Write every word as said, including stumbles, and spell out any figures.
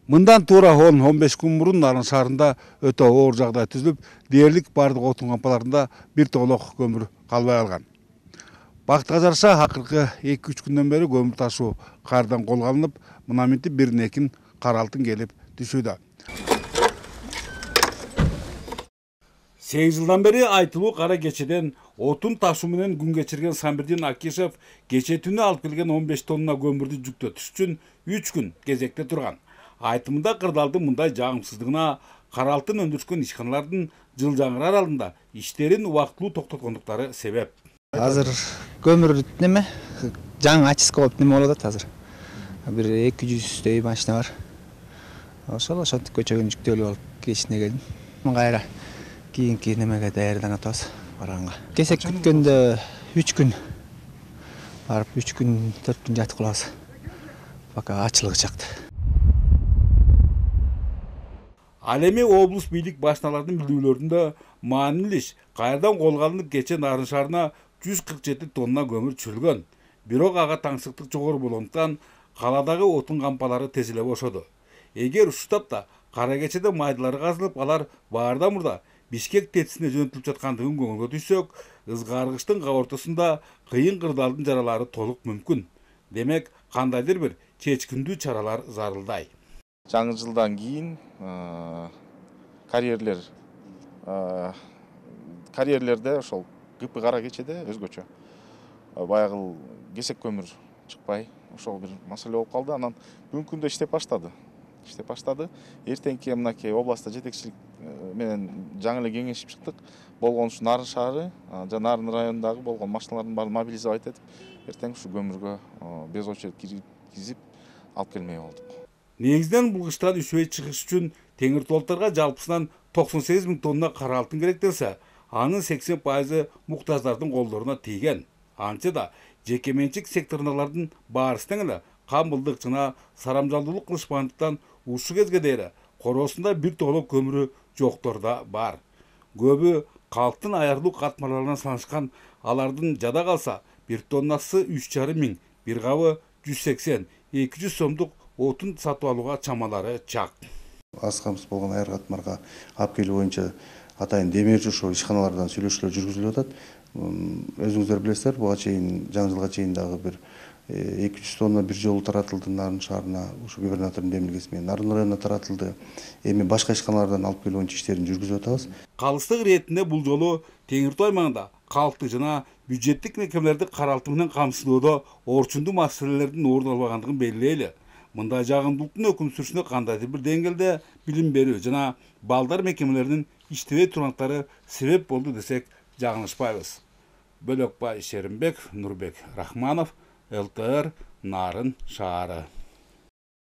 Мындан туура он он беш күн мурун Нарын шаарында өтө оор жагдай түзүлүп, дээрлик бардык отун кампаларында бир тоолок көмүр калбай калган. Бактыга жараша акыркы эки үч күндөн бери көмүр ташуу кайрадан колго алынып, мына минтип биринен кийин кара алтын келип түшүүдө. сегиз жылдан бери айтылуу кара кечеден отун ташуу менен күн кечирген Самирдин Акишев кече түнү алып келген он беш тонна көмүрдү жүктөтүш үчүн үч күн кезекте турган. Айтымында кырдаалдын мындай жагымсыздыгына кара алтын өндүрүшкөн ишканалардын Жылжаңыр аралында иштерин убактылуу токтоткондуктары себеп. Азыр көмүр неме жаңы очистка болуп неме болуп атат азыр. Бир эки жүздөй машина бар. Ошол ошентип көчөгөн жүктөлүп алып кечине келдим. Кайра кийинки немеге даярданып атабыз барганга. Кесек күткөндө үч күн барып үч күн төрт күн жатып калабыз. Пока ачылыгы чыкты. Ал эми облус бийлик башчыларынын билдирүүлөрүндө маанилүү иш кайрадан колго алынып кече Нарын шаарына жүз кырк жети тонна көмүр түшүрүлгөн. Бирок ага таңсыктык жогору болгондуктан каладагы отун кампалары тез эле бошоду. Эгер ушул тапта кара кечеде майдалары казылып, алар баарда мурда Бишкек тетисине жөнөтүлүп жаткандыгын көңүлгө түшсөк, ызгааргычтын кабы ортосунда кыйын кырдаалдын жаралары толук мүмкүн. Демек, кандайдыр бир чечкиндүү чаралар зарылдай. Жаңы жылдан кийин карьерлер карьерлерде ошол ГП кара кечеде өзгөчө. Баягы кесек көмүр чыкпай, ошол бир маселе болуп калды. Анан бүгүнкү күндө иштеп баштады. иштеп баштады. Эртеңки мынакей областта жетекчилик менен жаңы эле кеңешип чыктык. Болгон ушу Нарын шаары жана Нарын районундагы болгон машиналардын баарын мобилизовать этип, эртең ушу көмүргө без очередь киргизип алып келмей болдук. Негизинен бул кыштан үшөй чыгыш үчүн Теңир Толтарга жалпысынан токсон сегиз миң тонна кара алтын керектелсе, анын сексен пайызы муктаждардын колдоруна тийген. Антсе да жеке менчик секторундагылардын баарысы тең эле камылдык жана сарамжалдуулук кылышпагандыктан ушул кезге дейре короосунда бир тоолок көмүрү жоктор да бар. Көбү калктын аярлуу катмарларына санашкан, алардын жада калса бир тоннасы үч жарым миң, бир кабы жүз сексен эки жүз сомдук отун сатып алууга чамалары чак. Аз камсыз болгон аяр катмарга алып келүү боюнча атайын демирчи ошо ишканалардан сүйлөшүүлөр жүргүзүлүп атат. Өзүңүздөр билесиздер, буга чейин жаңы жылга чейин дагы бир эки жүз тонна бир жолу таратылды Нарын шаарына, ушу губернатордун демилгеси менен Нарын районуна таратылды. Эми башка ишканалардан алып келүү боюнча иштерин жүргүзүп атабыз. Калыстык иретинде бул жолу Теңиртау аймагында калктык жана бюджеттик мекемелерди кара алтын менен камсыздоодо орчундуу маселелердин орун албагандыгын белгилейли. Мындай жагымдуулуктун өкүм сүрүшүнө кандайдыр бир деңгээлде билим берүү жана балдар мекемелеринин иштебей тургандыктары себеп болду десек жаңылышпайбыз. Бөлөкбай Шеримбек, Нурбек Рахманов, эл тэ эр, Нарын шаары.